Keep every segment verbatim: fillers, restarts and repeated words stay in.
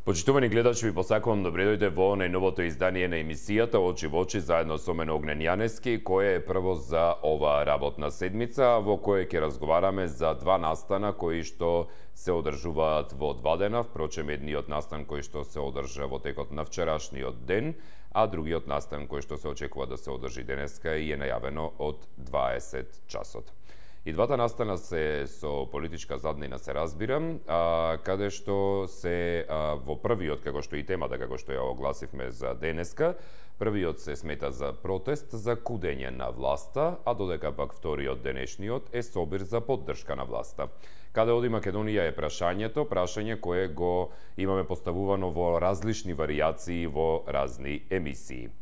Почитувани гледачи, ви посакувам добре дојде во најновото издание на емисијата Очи во очи заедно со мене Огнен Јанески, кој е прво за оваа работна седмица, во која ќе разговараме за два настана кои што се одржуваат во два дена, впрочем едниот настан кој што се одржа во текот на вчерашниот ден, а другиот настан кој што се очекува да се одржи денеска и е најавено од дваесет часот. И двата настана се со политичка заднина, се разбирам, а, каде што се а, во првиот, како што и темата, како што ја огласивме за денеска, првиот се смета за протест за кудење на власта, а додека пак вториот денешниот е собир за поддршка на власта. Каде оди Македонија е прашањето, прашање кое го имаме поставувано во различни варијации во разни емисии.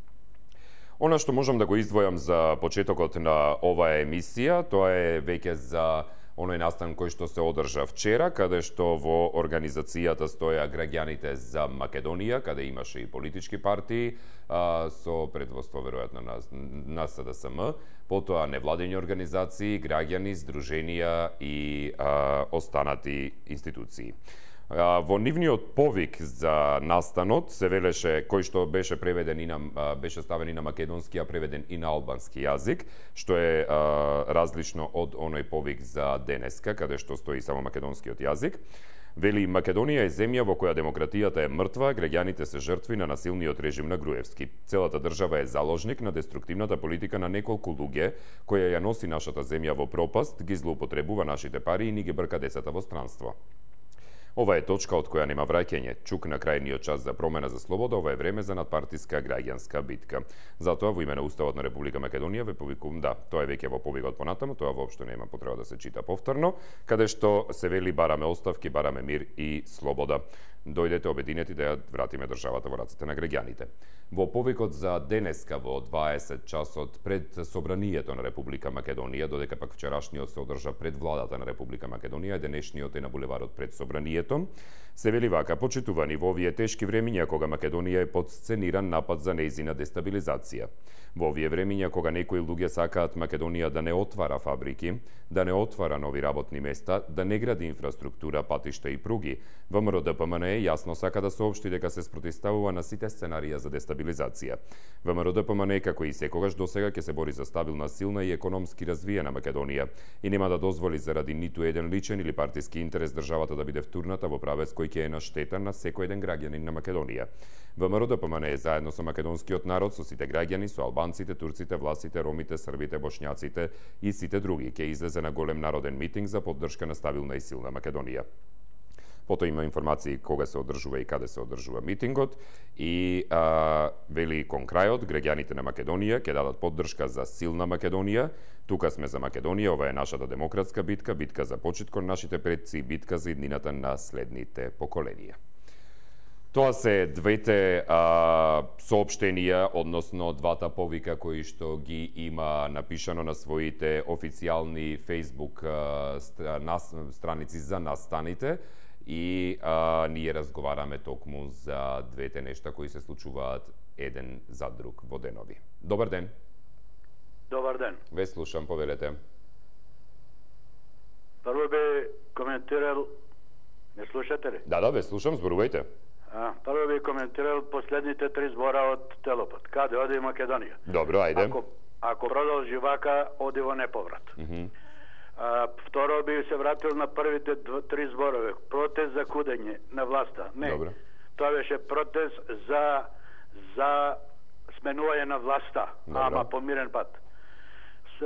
Она што можам да го издвојам за почетокот на оваа емисија, тоа е веќе за оној настан кој што се одржа вчера, каде што во организацијата стоја граѓаните за Македонија, каде имаше и политички партии, а, со предводство веројатно на, на С Д С М, потоа невладени организации, граѓани, здруженија и а, останати институции. Во нивниот повик за настанот се велеше, кој што беше преведен и на беше ставен и на македонски, а преведен и на албански јазик, што е а, различно од оној повик за денеска, каде што стои само македонскиот јазик. Вели, Македонија е земја во која демократијата е мртва, граѓаните се жртви на насилниот режим на Груевски. Целата држава е заложник на деструктивната политика на неколку луѓе, која ја носи нашата земја во пропаст, ги злоупотребува нашите пари и ни ги брка децата во странство. Ова е точка од која нема враќање. Чук на крајниот час за промена за слобода, ова е време за надпартиска граѓанска битка. Затоа во име на Уставот на Република Македонија ве повикувам, да, тоа е веќе во повикот понатаму, тоа воопшто нема потреба да се чита повторно, каде што се вели бараме оставки, бараме мир и слобода. Дојдете обединети да ја вратиме државата во рацете на граѓаните. Во повикот за денеска во дваесет часот пред собранието на Република Македонија, додека пак вчерашниот се одржа пред владата на Република Македонија, денешниот е на булеварот пред собранието, се вели вака: почитувани, во овие тешки времиња кога Македонија е под сцениран напад за нејзина дестабилизација. Во овие времиња кога некои луѓе сакаат Македонија да не отвара фабрики, да не отвара нови работни места, да не гради инфраструктура, патишта и пруги, ВМРО Д П М Н јасно сака да соопшти дека се спротивставува на сите сценарија за дестабилизација. ВМРО Д П М Н, како и секогаш досега, ќе се бори за стабилна, силна и економски развиена Македонија и нема да дозволи заради ниту еден личен или партиски интерес државата да биде втурната во правец кој ќе е на штета на секој еден граѓанин на Македонија. ВМРО Д П М Н е заедно со македонскиот народ, со сите граѓани, со албанците, турците, власите, ромите, србите, бошњаците и сите други ќе излезе на голем народен митинг за поддршка на стабилна и силна Македонија. Потоа има информации кога се одржува и каде се одржува митингот и а, вели кон крајот граѓаните на Македонија ќе дадат поддршка за силна Македонија. Тука сме за Македонија, ова е нашата демократска битка, битка за почит кон нашите предци и битка за иднината на следните поколенија. Тоа се двете а, соопштенија, односно двата повика кои што ги има напишано на своите официјални Facebook а, страници за настаните. И а, ние разговараме токму за двете нешта кои се случуваат еден за друг во денови. Добар ден. Добар ден. Ве слушам, повелете. Прво би коментирал, не слушате ли? Да, да, ве слушам, зборувајте. А, прво би коментирал последните три збора од Телопат. Каде оди Македонија? Добро, ајде. Ако, ако продолжи вака, оди во неповрат. Mm -hmm. А, второ би се вратил на првите дв, три зборове. Протест за кудење на власта. Не. Добре. Тоа беше протест за за сменување на власта, Добре. ама по мирен пат. С,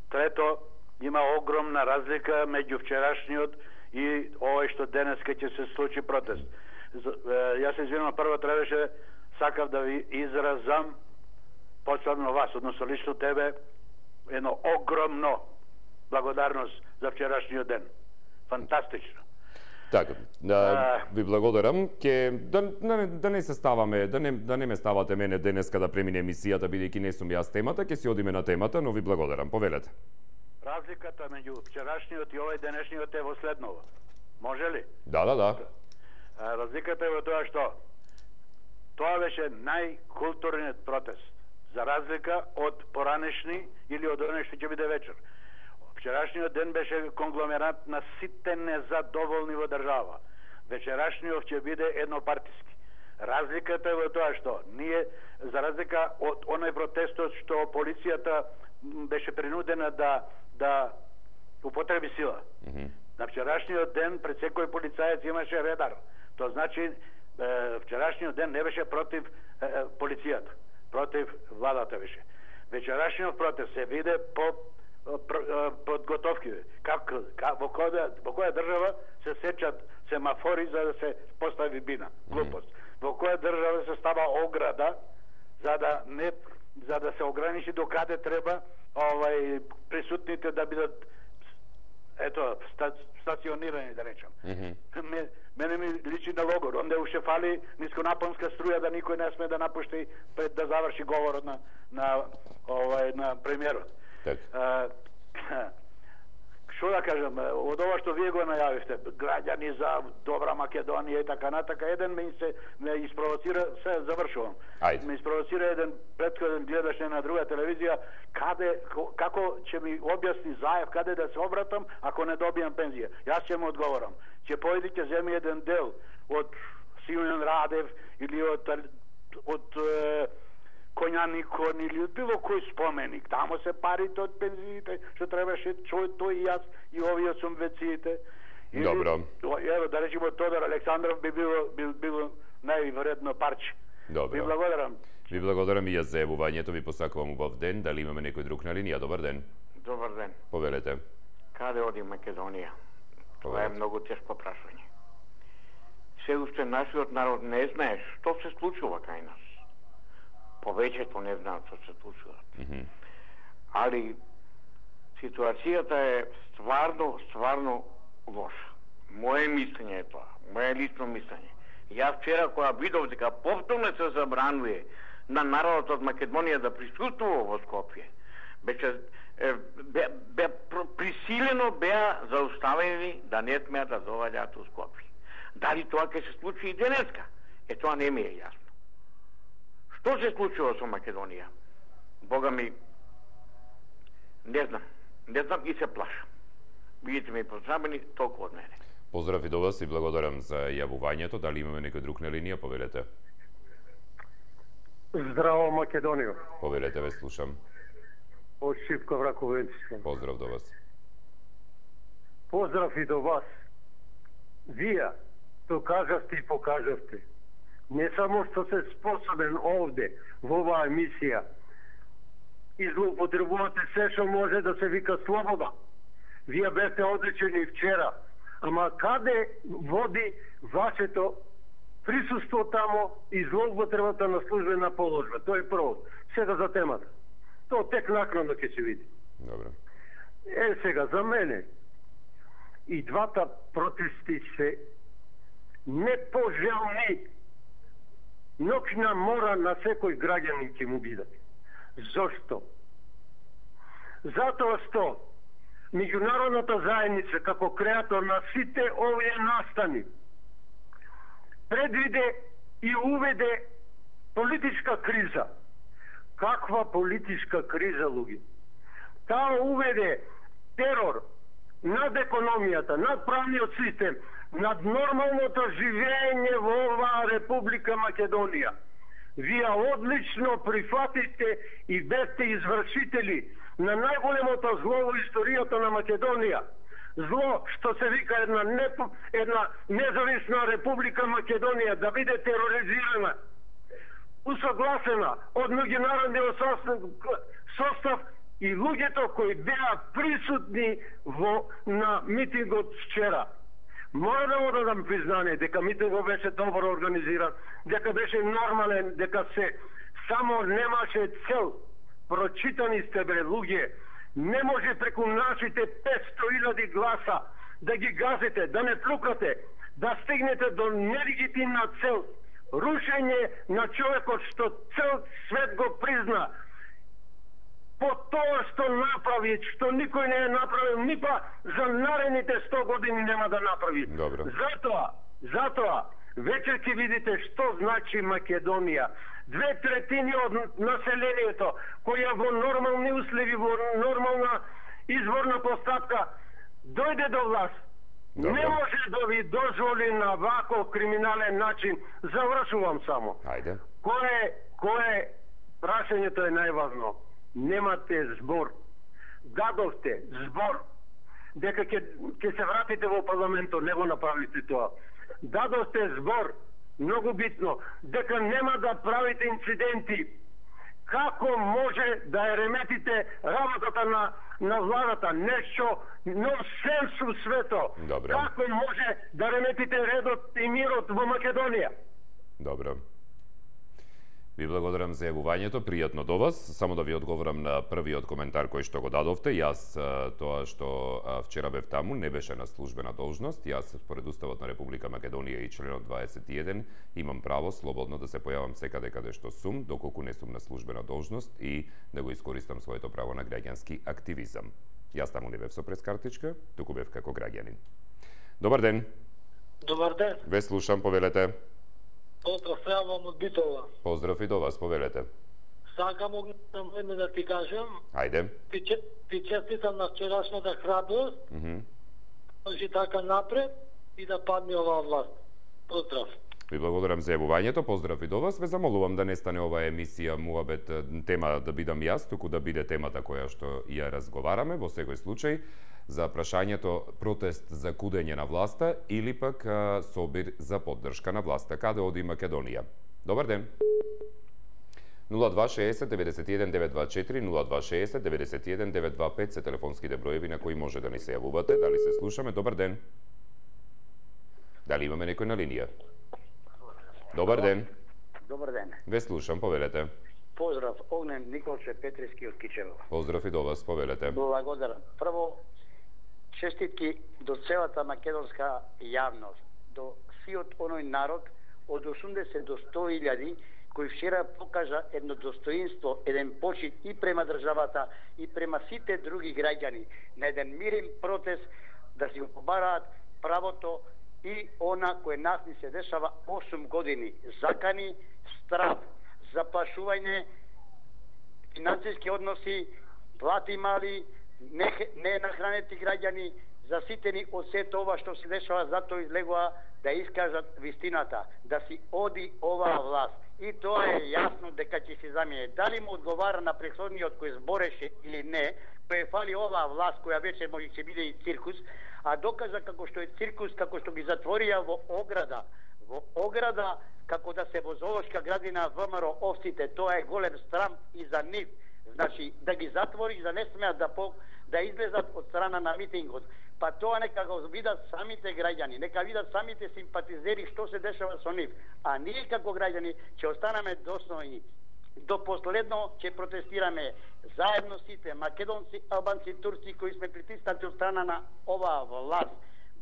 трето, има огромна разлика меѓу вчерашниот и овој што денеска ќе се случи протест. Јас се извинувам, прво требаше, сакав да ви изразам посебно вас, односно лично тебе, едно огромно благодарност за вчерашниот ден. Фантастично. Така, да, ви благодарам. Ке да, да, да не се ставаме, да не да не ме ставате мене денеска да премине емисијата бидејќи не сум јас темата, ќе си одиме на темата, но ви благодарам. Повелете. Разликата меѓу вчерашниот и овој денешниот е во следново. Може ли? Да, да, да. Разликата е во тоа што тоа беше најкултурниот протест, за разлика од поранешни или од оној што ќе биде вечер. Вчерашниот ден беше конгломерат на сите незадоволни во држава. Вечерашниот ќе биде еднопартиски. Разликата е во тоа што ние, за разлика од оној протестот што полицијата беше принудена да да употреби сила. Mm -hmm. На вчерашниот ден пред секој полицаец имаше радар. Тоа значи е, вчерашниот ден не беше против е, полицијата, против владата беше. Вечерашниот протест се виде по подготовки. Как, как во која во која држава се сечат семафори за да се постави бина? Глупост. Mm -hmm. Во која држава се става ограда за да не за да се ограничи до каде треба овај присутните да бидат ето ста, стационирани, да речам. Mm -hmm. Мене ми личи на логор, онде уште фали нисконапонска струја да никој не сме да напушти пред да заврши говорот на на овај на премиерот. Так. Што да кажам, од ова што вие го најавивте, граѓани за добра Македонија и така натака, еден ме се ме испровоцира, се завршувам. Ајде. Ме испровоцира еден претходен гледаш на друга телевизија, каде како ќе ми објасни Заев каде да се обратам ако не добијам пензија. Јас ќе му одговорам. Ќе појди ќе земи еден дел од Симеон Радев или од од Коњаникон или од било кој споменик. Тамо се парите од пензиите, што требаше тој, тој и јас и овие сумвециите. Добро. Ево, да речемо Тодор Александров би било, би било највредно парче. Добро. Ви благодарам. Ви благодарам и јас за јавувањето, ви посакувам убав ден. Дали имаме некој друг на линија? Добар ден. Добар ден. Повелете. Каде оди Македонија? Това е многу тешко прашање. Се уште нашиот народ не знае што се случува кај нас. Повеќето не знаат што се случува. Mm -hmm. Али ситуацијата е стварно, стварно лоша. Моje мислење е тоа, моje лично мислење. Јас вчера кога видов дека повторно се забранува на народот од Македонија да присуствува во Скопје, беше бе, бе присилено беа зауставени да не смеат да доаѓаат у Скопје. Дали тоа ќе се случи и денеска? Е тоа не ми е јасно. Што се случува со Македонија? Бога ми, не знам, не знам и се плашам. Видите ми позабени толку од мене. Поздрав и до вас и благодарам за јавувањето. Дали имаме некој друг на линија? Повелете. Здраво, Македонија. Повелете, ве слушам. Од Шипка Враковенци. Поздрав до вас. Поздрав и до вас. Вие то кажавте и покажавте. Не само што се способен овде, во оваа емисија, и злоупотребувате се што може да се вика слобода. Вие бевте одличени вчера. Ама каде води вашето присуство тамо и злоупотребата на службена положба? Тоа е прво. Сега за темата. Тоа тек накнадно ќе се види. Добро. Е, сега, за мене, и двата протести се непожелни. Ноќна мора на секој граѓанин ќе му биде. Зошто? Затоа што меѓународната заедница како креатор на сите овие настани предвиде и уведе политичка криза. Каква политичка криза, луѓе? Таа уведе терор над економијата, над правниот систем, над нормалното живење во оваа Република Македонија. Вие одлично прифатите и бевте извршители на најголемото зло во историјата на Македонија. Зло што се вика една, не, една независна Република Македонија да биде тероризирана, усогласена од меѓународниот состав, состав и луѓето кои беа присутни во на митингот вчера. Мора да му дадам признание дека митингот беше добро организиран, дека беше нормален, дека се само немаше цел. Прочитани сте, бре, луѓе. Не може преку нашите петсто илјади гласа да ги газите, да не плукате, да стигнете до нелегитимна цел. Рушење на човекот што цел свет го призна. По тоа што направи, што никој не е направил, ни па за наредните сто години нема да направи. Добро. Затоа, затоа, вечер ќе видите што значи Македонија. Две третини од населението, која во нормални услови, во нормална изборна постапка, дојде до власт Добре. Не може да ви дозволи на вако криминален начин. Завршувам само. Ајде. Кое, кое прашањето е најважно. Немате збор. Дадовте збор дека ќе ќе се вратите во парламентот, не го направите тоа. Дадовте збор, многу битно, дека нема да правите инциденти. Како може да ја реметите работата на на владата, нешто нонсенс у свето? Добре. Како може да реметите редот и мирот во Македонија? Добро. Ви благодарам за јавувањето, пријатно до вас. Само да ви одговорам на првиот коментар кој што го дадовте. Јас тоа што вчера бев таму не беше на службена должност. Јас според Уставот на Република Македонија и членот дваесет и еден имам право слободно да се појавам секаде каде што сум, доколку не сум на службена должност и да го искористам своето право на граѓански активизам. Јас таму не бев со прескартичка, туку бев како граѓанин. Добар ден. Добар ден. Ве слушам, повелете. Поздрав, јавам од Битола. Поздрав и до вас, повелете. Сакам огнено да ти кажам. Ајде. Ти, ти честитам на вчерашната храброст, mm -hmm. можи така напред и да падне оваа власт. Поздрав. Ви благодарам за јавувањето, поздрав и до вас. Ве замолувам да не стане оваа емисија муабет тема да бидам јас, туку да биде темата која што ја разговараме во секој случај за прашањето протест за кудење на власта или пак а, собир за поддршка на власта. Каде оди Македонија? Добар ден. нула два шеесет деветдесет и еден девет два четири, нула два шеесет деветдесет и еден девет два пет се телефонските броеви на кои може да ни се јавувате. Дали се слушаме? Добар ден. Дали имаме некој на линија? Добар ден. Добар ден. Ве слушам, повелете. Поздрав, Огнен Николче Петриски од Кичево. Поздрав и до вас, повелете. Благодарам. Прво, честитки до целата македонска јавност, до сиот оној народ од осумдесет до сто илјади кој вчера покажа едно достоинство, еден почит и према државата и према сите други граѓани на еден мирен протест да си го побараат правото и она кое нас ни се дешава осум години. Закани, страв, заплашување, финансиски односи, плати мали, не, не нахранети граѓани, заситени од сето ова што се дешава, затоа излегува да искажат вистината, да си оди оваа власт. И тоа е јасно дека ќе се замине. Дали му одговара на претходниот кој збореше или не, кој фали оваа власт која вече може ќе биде и циркус, а докажа како што е циркус, како што ги затворија во ограда, во ограда, како да се во зоолошка градина ВМРО овците, тоа е голем срам и за нив. Значи, да ги затвори, да не смеат да по, да излезат од страна на митингот. Па тоа нека го видат самите граѓани, нека видат самите симпатизери што се дешава со нив. А ние како граѓани ќе останеме достојни. До последно ќе протестираме заедно сите македонци, албанци, турци кои сме притиснати од страна на оваа власт.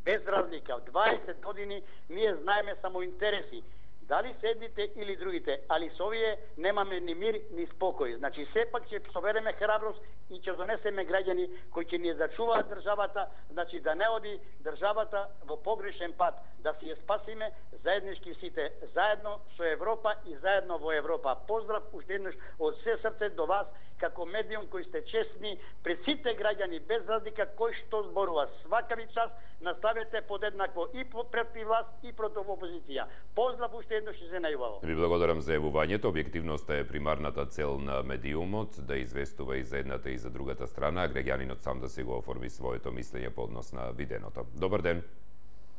Без разлика, в дваесет години ние знаеме само интереси. Дали седните или другите, али со овие немаме ни мир, ни спокој. Значи, сепак ќе собереме храброст и ќе донесеме граѓани кои ќе ни зачуваат државата, значи да не оди државата во погрешен пат, да си ја спасиме заеднички сите, заедно со Европа и заедно во Европа. Поздрав уште еднаш од се срце до вас, како медиум кои сте честни пред сите граѓани, без разлика кој што зборува. Свака ви час наставете подеднакво и против власт и против опозиција. Поздрав уште еднаш и се најубаво. Ви благодарам за јавувањето. Објективноста е примарната цел на медиумот, да известува и за едната и за другата страна, а граѓанинот сам да си го оформи своето мислење по однос на виденото. Добар ден.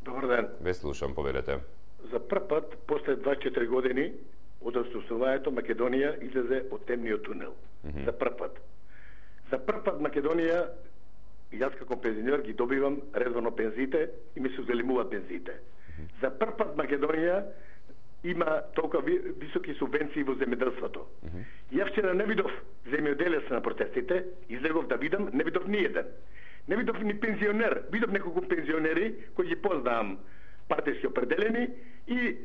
Добар ден. Ве слушам, повелете. За прв пат, после дваесет и четири години, од освободувањето Македонија излезе од темниот тунел. Mm -hmm. За прв пат. За прв пат Македонија, јас како пензионер ги добивам редовно пензиите и ми се зелимуваат пензиите. Mm -hmm. За прв пат Македонија има толку високи субвенции во земјоделството. Mm -hmm. Ја вчера не видов земјоделец на протестите, излегов да видам, не видов ни еден. Не видов ни пензионер, видов неколку пензионери кои ги познавам, партиски определени и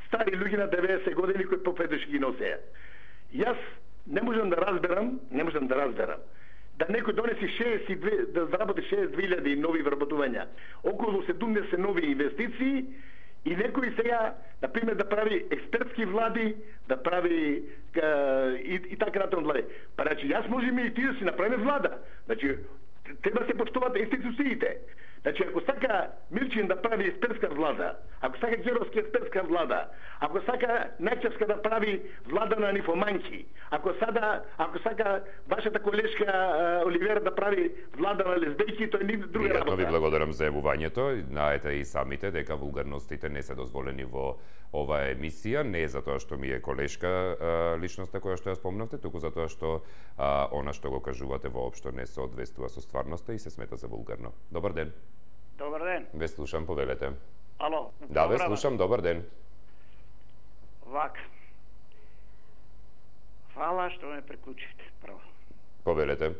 стари луѓе на деветдесет години кои попедеш ги носеа. Јас не можам да разберам, не можам да разберам да некој донеси шеесет и две, да заработи шеесет и две илјади нови вработувања, околу седумдесет нови инвестиции и некој сега, например, да прави експертски влади, да прави е, и, и така натаму влади. Па значи, јас можеме и ти да си направиме влада. Значи, треба да се поштуваат институциите. Значи, ако сака Мирчин да прави есперска влада, ако сака Геровски есперска влада, ако сака Најчевска да прави влада на нифоманки, ако сада, ако сака вашата колешка Оливера да прави влада на лесбејки, тоа е друга работа. Пријатно ви благодарам за јавувањето. Знаете и самите дека вулгарностите не се дозволени во оваа емисија, не е затоа што ми е колешка личноста која што ја спомнавте, туку затоа што а, она што го кажувате воопшто не соодветствува со стварноста и се смета за вулгарно. Добар ден. Добар ден. Ве слушам, повелете. Ало. Да, ве слушам, добар ден. Вак. Фала што ме приклучите, прво. Повелете.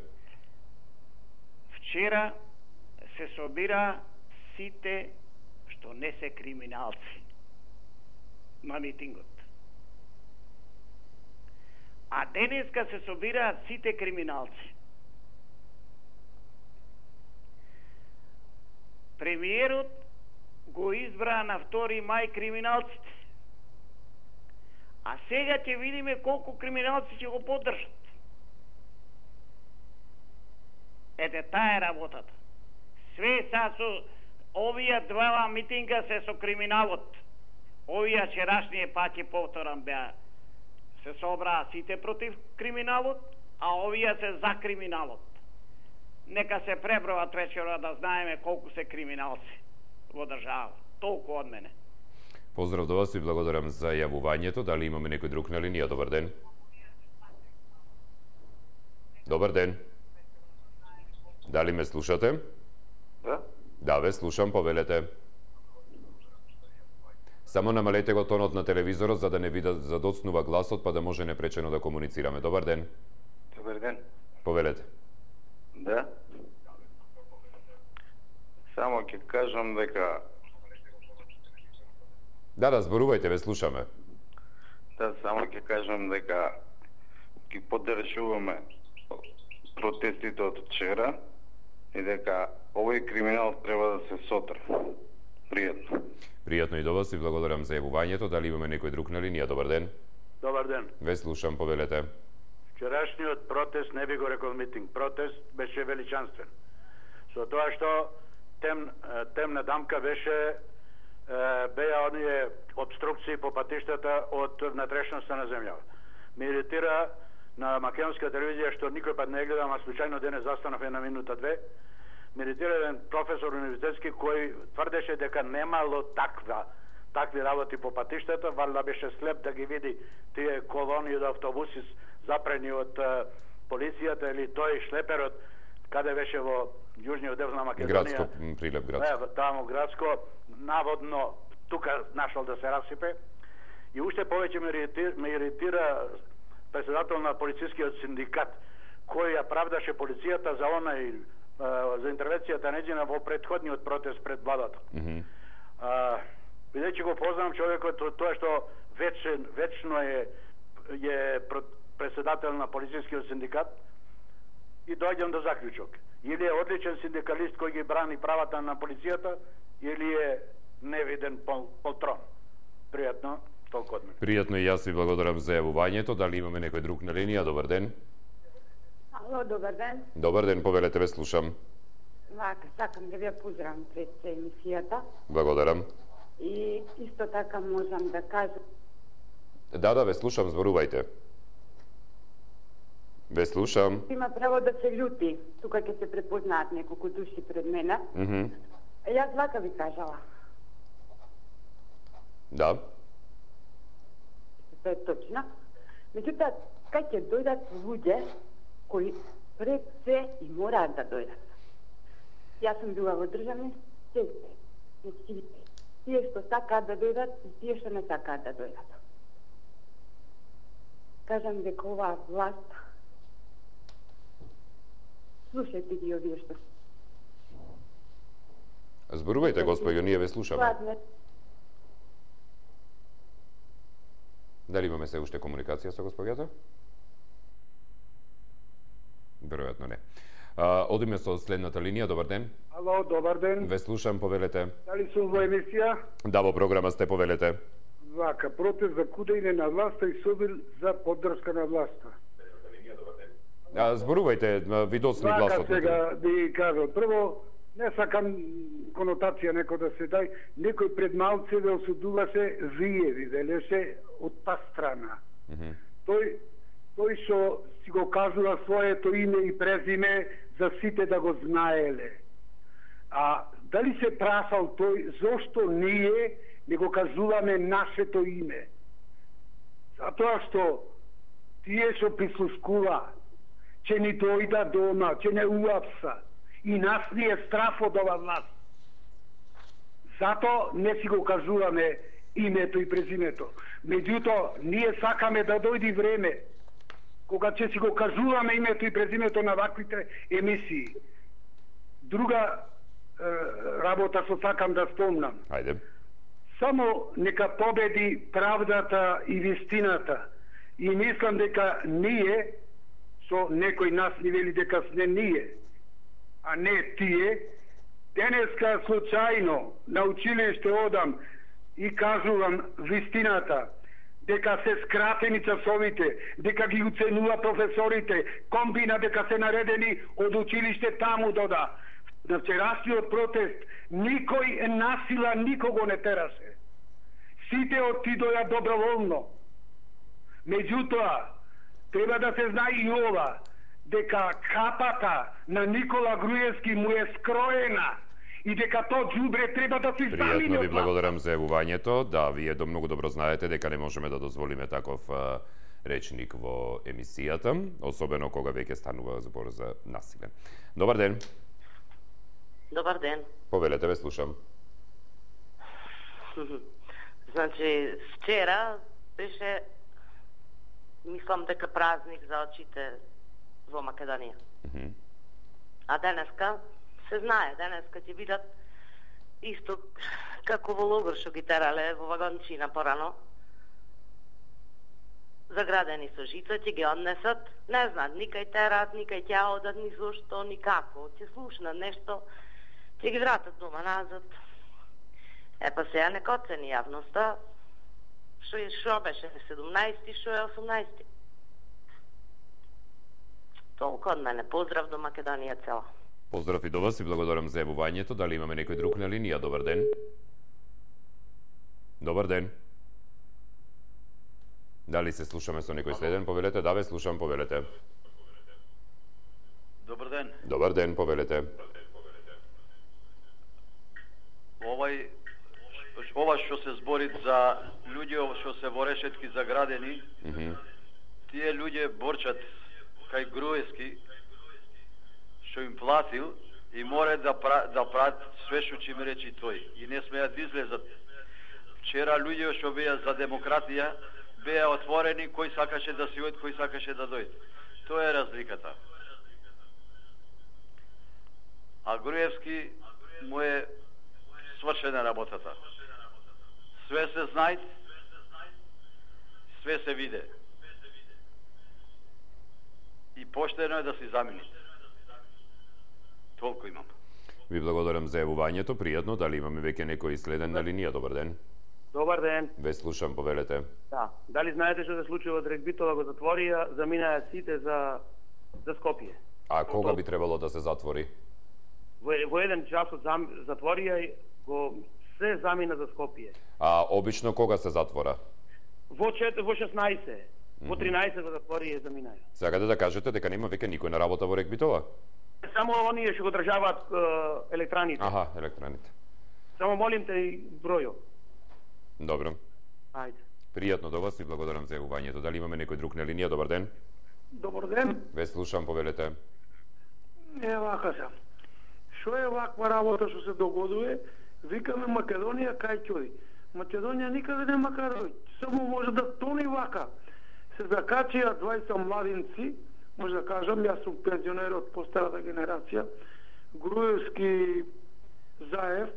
Вчера се собира сите што не се криминалци на митингот. А денеска се собираат сите криминалци. Премиерот го избра на втори мај криминалците. А сега ќе видиме колку криминалци ќе го поддржат. Ете, таа е работата. Све са со овие два митинга се со криминалот. Овие вчерашние пак ќе повторам беа се собраа сите против криминалот, а овие се за криминалот. Нека се преброат вечера да знаеме колку се криминалци во држава. Толку од мене. Поздрав до вас и благодарам за јавувањето. Дали имаме некој друг на линија? Добар ден. Добар ден. Дали ме слушате? Да. Да, ве слушам, повелете. Само намалете го тонот на телевизорот за да не ви задоцнува гласот, па да може непречено да комуницираме. Добар ден. Добар ден. Повелете. Да. Само ќе кажам дека... Да, да, зборувајте, ве слушаме. Да, само ќе кажам дека ќе поддржуваме протестите од вчера и дека овој криминал треба да се сотре. Пријатно. Пријатно и до вас и благодарам за јавувањето. Дали имаме некој друг на линија? Добар ден. Добар ден. Ве слушам, повелете. Вчерашниот протест, не би го рекол митинг, протест беше величанствен. Со тоа што тем, темна дамка беше беа оние обструкции по патиштата од внатрешноста на земјава. Ме иритира на македонска телевизија што никој пат не гледам, а случајно денес застанав една минута две. Ме иритира еден професор универзитетски кој тврдеше дека немало таква такви работи по патиштата, валда беше слеп да ги види тие колони од автобуси запрени од полицијата или тој шлеперот каде беше во јужниот дел на Македонија. Градско, Прилеп градско. Не, таму градско, наводно тука нашол да се расипе. И уште повеќе ме иритира, ме иритира председател на полицискиот синдикат, кој ја правдаше полицијата за онај за интервенцијата неđина во претходниот протест пред владата. Mm -hmm. А, бидејќи го познавам човекот, тоа што вечен, вечно е е председател на полицискиот синдикат, и доаѓам до заклучок. Или е одличен синдикалист кој ги брани правата на полицијата, или е невиден пол, полтрон. Пријатно, толку од мене. Пријатно и јас ви благодарам за јавувањето. Дали имаме некој друг на линија? Добар ден. Ало, добар ден. Добар ден, повелете, ве слушам. Вака, сакам да вја поздравам пред емисијата. Благодарам. И исто така можам да кажам... Да, да, ве слушам, зборувајте. Ве слушам. Има право да се љути. Тука ќе се препознаат неколку души пред мене. Mm -hmm. Јас вака ви кажала. Да. Тоа е точно. Меѓутоа, кај ќе дојдат луѓе кои пред се и мораат да дојдат. Јас сум била во државни сестри. Значи, тие што сакаат да дојдат и тие што не сакаат да дојдат. Кажам дека оваа власт, слушајте ги овие што... Зборувајте, господјо, ние ве слушаме. Дали имаме се уште комуникација со господјата? Веројатно не. А, одиме со следната линија. Добар ден. Ало, добар ден. Ве слушам, повелете. Дали сум во емисија? Да, во програма сте, повелете. Вака, протест за кудење на власта и собир за поддршка на власта. А, зборувајте, ви доцни гласот. Вака сега би кажал. Прво, Не сакам конотација некој да се дај, некој пред малце да осудуваше вие, ви велеше од та страна. Mm -hmm. Тој тој што си го кажува своето име и презиме за сите да го знаеле. А дали се прашал тој зошто ние не го кажуваме нашето име? Затоа што тие што прислушкува, че ни дојда дома, че не уапса, и нас ни е страф од ова власт. Зато не си го кажуваме името и презимето. Меѓутоа, ние сакаме да дојди време кога ќе си го кажуваме името и презимето на ваквите емисии. Друга е, работа што сакам да спомнам. Ајде. Само нека победи правдата и вистината. И мислам дека ние, со некој нас ни вели дека сме ние, а не тие, денеска случајно на училиште одам и кажувам вистината, дека се скратени часовите, дека ги уценува професорите, комбина дека се наредени од училиште таму дода. На вчерашниот протест никој насила никого не тераше. Сите отидоја доброволно. Меѓутоа, треба да се знае и ова, дека капата на Никола Груевски му е скроена и дека то џубре треба да се замени. Пријатно ви благодарам за јавувањето. Да, вие до многу добро знаете дека не можеме да дозволиме таков а, речник во емисијата, особено кога веќе станува збор за насиле. Добар ден. Добар ден. Повелете, ве слушам. Значи, вчера беше, мислам дека празник за очите во Македонија. Mm -hmm. А денеска се знае, денеска ќе видат исто како во логор што ги терале во вагончина порано. Заградени со жица, ќе ги однесат, не знаат, никај терат, никај ќе одат, ни зошто, никако. Ќе слушнат нешто, ќе ги вратат дома назад. Е, па сега нека оцени јавноста, што е шо беше седумнаесети, што е осумнаесети. Толку од мене. Поздрав до Македонија цела. Поздрав и до вас и благодарам за јавувањето. Дали имаме некој друг на линија? Добар ден. Добар ден. Дали се слушаме со некој следен? Повелете. Да, ве слушам, повелете. Добар ден. Добар ден, повелете. Овај ова што се збори за луѓе што се во решетки заградени, mm -hmm. тие луѓе борчат кај Груевски, што им платил и мора да пра, да прават све што ќе им речи тој. И не смеат да излезат. Вчера луѓе што беа за демократија беа отворени, кој сакаше да си оди, кој сакаше да дојде. Тоа е разликата. А Груевски му е свршена работата. Све се знајт, све се виде. И поштено е да се замени. Толку имам. Ви благодарам за јавувањето. Пријатно. Дали имаме веќе некој следен на линија? Добар ден. Добар ден. Ве слушам, повелете. Да. Дали знаете што се случува од Регбитова, го затворија, заминаа сите за за Скопје. А кога би требало да се затвори? Во, во еден час од зам, затворија и го се замина за Скопје. А обично кога се затвора? Во чет, во шеснаесет. Во тринаесет го затвори и заминаја. Сакате да кажете дека нема веќе никој на работа во Регбитова? Само оние што го државаат е, електраните. Аха, електраните. Само молим те и бројо. Добро. Ајде. Пријатно до вас и благодарам за јавувањето. Дали имаме некој друг на линија? Добар ден. Добар ден. Ве слушам, повелете. Не, вака сам. Што е ваква работа што се догодува? Викаме Македонија кај ќоди. Македонија никаде нема кај дојде. Само може да тони вака. Се закачија дваесет младинци, може да кажам, јас сум пензионер од постарата генерација, Груевски, Заев,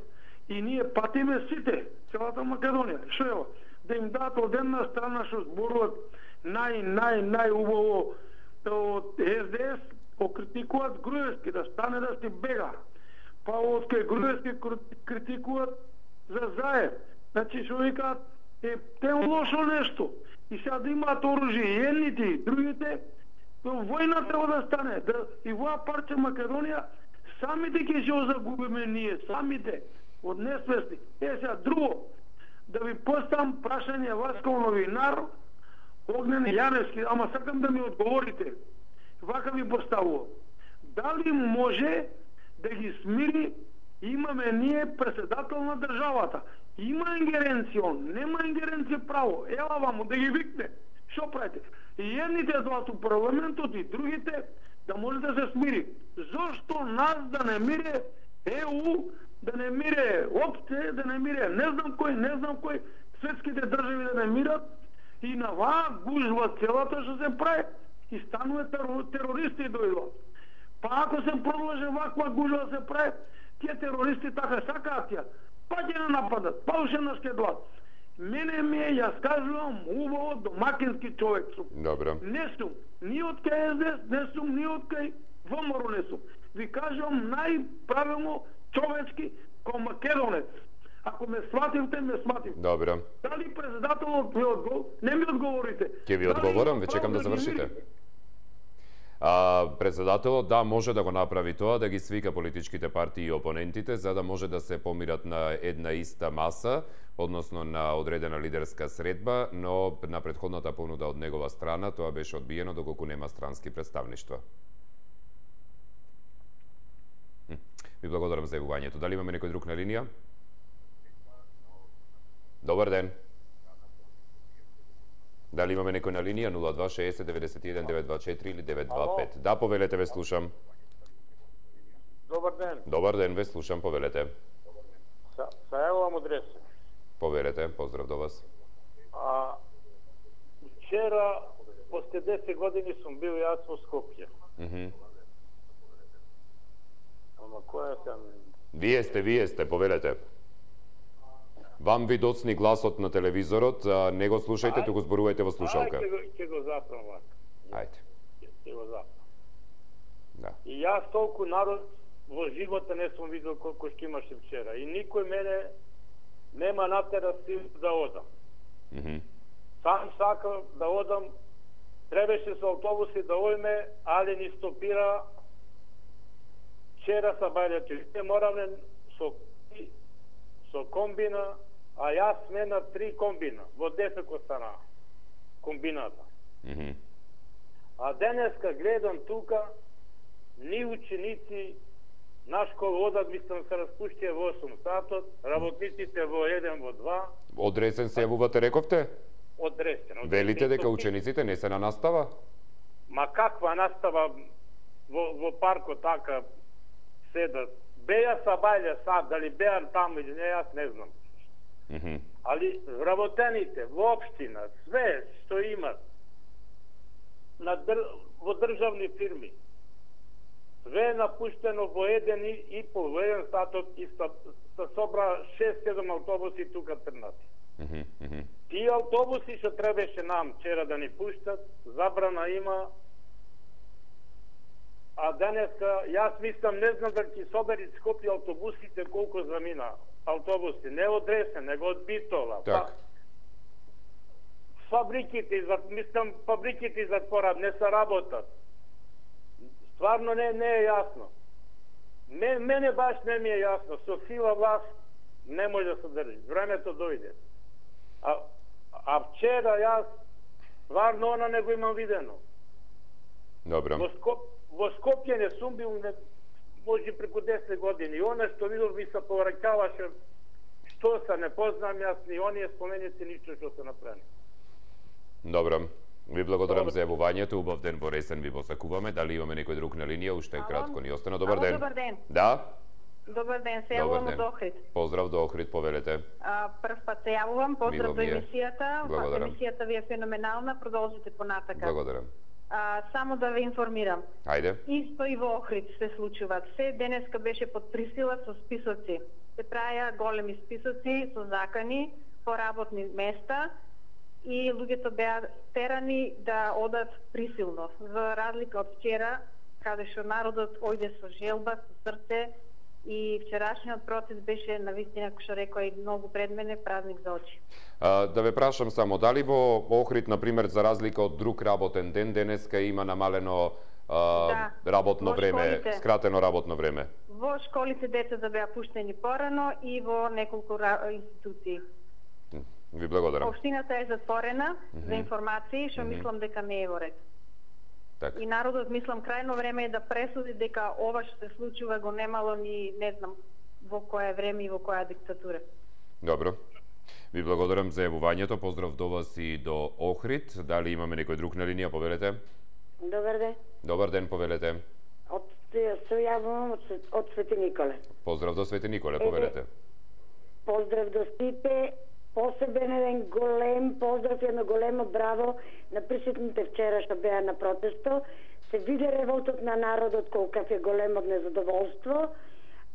и ние патиме сите, целата Македонија. Што е ова? Да им дадат од една страна што зборуват нај, нај, најубаво од Ес Де Ес, окритикуваат Груевски, да стане да си бега. Па од кај Груевски критикуваат за Заев. Значи, што викаат, е, те лошо нешто. И сега да имаат оружје, и едните, и другите, војна треба да стане. Да, и воја парче Македонија Самите ќе ќе загубиме ние, самите, од несвесни. Е, сега, друго, да ви поставам прашање вас како новинар, Огнен Јаневски, ама сакам да ми одговорите. Вака ви поставувам. Дали може да ги смири, имаме ние председател на државата. Има ингеренција он, нема ингеренција право. Ела ваму да ги викне. Шо правите? И едните од у парламентот и другите да може да се смири. Зошто нас да не мире Е У, да не мире ОПСЕ, да не мире не знам кој, не знам кој, светските држави да не мират и на ваа гужва целата што се прави и станува терористи дојдат. Па ако се продолжи ваква гужва се прави, тие терористи така сакаат тие, па ќе не нападат, па уште нас ќе дојдат. Мене ми е, јас кажувам, убаво домакински човек сум. Добро. Не сум, ни од кај Ес Де Ес не сум, ни од кај ВМРО не сум. Ви кажувам најправилно човечки ко македонец. Ако ме свативте, ме свативте. Добро. Дали председателот ви одговор? Не ми одговорите. Ќе ви одговорам, ве чекам да завршите. А, председателот, да, може да го направи тоа, да ги свика политичките партии и опонентите, за да може да се помират на една иста маса, односно на одредена лидерска средба, но на претходната понуда од негова страна тоа беше одбиено доколку нема странски представништва. Ви благодарам за јавувањето. Дали имаме некој друг на линија? Добар ден. Дали имаме некој на линија? нула два шеесет деветдесет и еден деветстотини дваесет и четири или деветстотини дваесет и пет. Да, повелете, ве слушам. Добар ден. Добар ден, ве слушам, повелете. Са, са јавувам од Ресе. Повелете, поздрав до вас. А, вчера, после десет години сум бил јас во Скопје. Mm -hmm. Ама која сам? Вие сте, вие сте, повелете. Вам ви доцни гласот на телевизорот, а не го слушајте, туку зборувајте во слушалка. Ајде, ќе го, го запрам вака. Ајде. Ќе го запрам. Да. И јас толку народ во живота не сум видел колку што имаше вчера. И никој мене нема натера сил да одам. Mm -hmm. Сам сакам да одам, требаше со автобуси да ојме, али ни стопира вчера са бајлето. Не моравме со, со комбина, а јас сме на три комбина, во Дефеко стана комбината. Mm -hmm. А денеска гледам тука, ни ученици на школа одат, мислам се распуштија во осум сатот, работниците во еден, во два. Од Ресен се јавувате, рековте? Од Ресен. Велите дека учениците не се на настава? Ма каква настава во, во паркот така седат? Беја са бајле сад, дали беа таму или не, јас не знам. Mm -hmm. Али вработените во општина, све што имат на др... во државни фирми, све е напуштено во еден и, и по еден сатот и са, са собра шест-седум автобуси тука трнати. Mm -hmm. Тие автобуси што требаше нам вчера да ни пуштат, забрана има. А денеска, јас мислам, не знам да ќе собери Скопје автобусите колку замина автобуси, не од Ресен, него од Битола. Так. Па, фабриките, мислам, фабриките затворат, не се работат. Стварно не, не е јасно. Мен, мене баш не ми е јасно. Со сила власт не може да се држи. Времето дојде. А, а вчера јас стварно она не го имам видено. Добро. Во, Скоп, во Скопје не сум бил, не, може преку десет години. И она што видов ми се повраќаваше, што се не познам јас, ни оние споменици, ништо што се направи. Добро. Ви благодарам Добро. за јавувањето. Убав ден во Ресен ви посакуваме. Дали имаме некој друг на линија? Уште Ало? кратко ни остана. Добар Ало, ден. Добар ден. Да? Добар ден, се јавувам од Охрид. Поздрав до Охрид, повелете. А, прв пат се јавувам, поздрав до емисијата. Благодарам. Емисијата ви е феноменална, продолжите понатака. Благодарам. А, само да ве информирам. Ајде. Исто и во Охрид се случуваат. Се денеска беше под присила со списоци. Се праја големи списоци со закани по работни места и луѓето беа терани да одат присилно. За разлика од вчера, каде што народот ојде со желба, со срце, и вчерашниот процес беше навистина, кој што рекоа и многу пред мене, празник за очи. А, да ве прашам само, дали во Охрид, например, за разлика од друг работен ден, денеска има намалено а, да, работно време, школите, скратено работно време? Во школите децата беа пуштени порано и во неколку институции. Ви благодарам. Општината е затворена mm -hmm. за информации, што mm -hmm. мислам дека не е во ред. Так. И народот, мислам, крајно време е да пресуди дека ова што се случува го немало ни, не знам, во кое време и во која диктатура. Добро. Ви благодарам за јавувањето. Поздрав до вас и до Охрид. Дали имаме некој друг на линија? Повелете. Добар ден. Добар ден, повелете. Од се јавувам од, од Свети Николе. Поздрав до Свети Николе, повелете. Поздрав до сите. Посебен еден голем поздрав, едно големо браво на присутните вчера што беа на протесто. Се виде револтот на народот колкав е голем од незадоволство,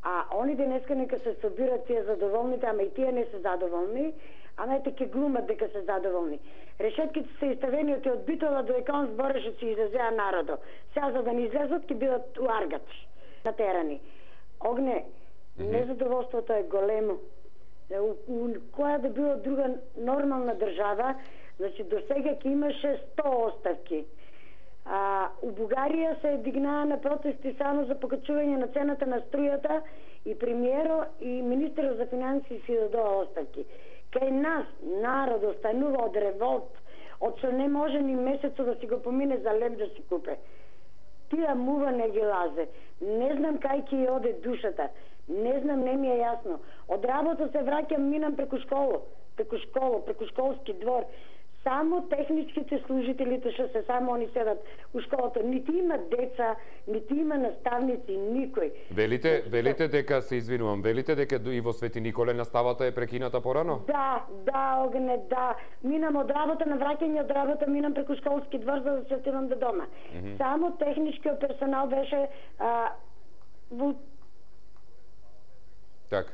а они денеска нека се собират тие задоволните, ама и тие не се задоволни, а ете ке глумат дека се задоволни. Решетките се иставени од Битола до Екон збореше си излезеа народо. Сега за да не излезат ке бидат уаргати, натерани. Огне, mm-hmm. незадоволството е големо. У, у која да било друга нормална држава, значи до сега ќе имаше сто оставки. А, у Бугарија се дигнаа на протести само за покачување на цената на струјата и премиеро и министерот за финансии си дадоа оставки. Кај нас народ останува од револт, од што не може ни месецо да си го помине за леб да си купе. Тија мува не ги лазе. Не знам кај ќе оде душата. Не знам, не ми е јасно. Од работа се враќам, минам преку школо, преку школо, преку школски двор. Само техничките служителите што се само они седат у школото. Нити има деца, нити има наставници, никој. Велите, велите дека, се извинувам, велите дека и во Свети Николе наставата е прекината порано? Да, да, Огне, да. Минам од работа на враќање од работа, минам преку школски двор за да се отидам до дома. Mm -hmm. Само техничкиот персонал беше а, во... Так.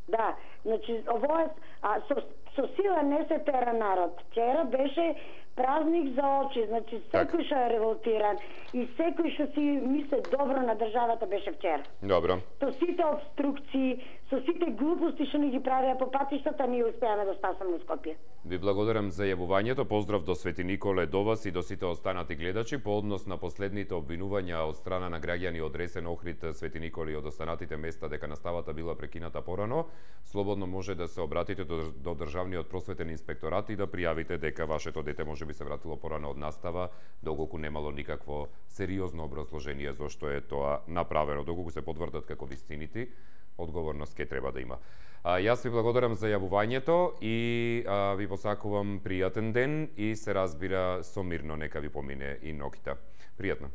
Да, значи, ово е, а, со, со сила не се тера народ. Вчера беше празник за очи, значи секој што е револтиран и секој што си мисли добро на државата беше вчера. Добро. Со сите обструкции, со сите глупости што ни ги правеа по патиштата, ние успеаме да спасаме Скопје. Ви благодарам за јавувањето. Поздрав до Свети Николе, до вас и до сите останати гледачи. По однос на последните обвинувања од страна на граѓани од Ресен, Охрид, Свети Николе и од останатите места дека наставата била прекината порано, слободно може да се обратите до, до Државниот просветен инспекторат и да пријавите дека вашето дете може би се вратило порано од настава, доколку немало никакво сериозно образложение зошто е тоа направено. Доколку се потврдат како вистините, одговорност ке треба да има. А, јас ви благодарам за јавувањето и а, ви посакувам пријатен ден и се разбира со мирно нека ви помине и ноќта. Пријатно.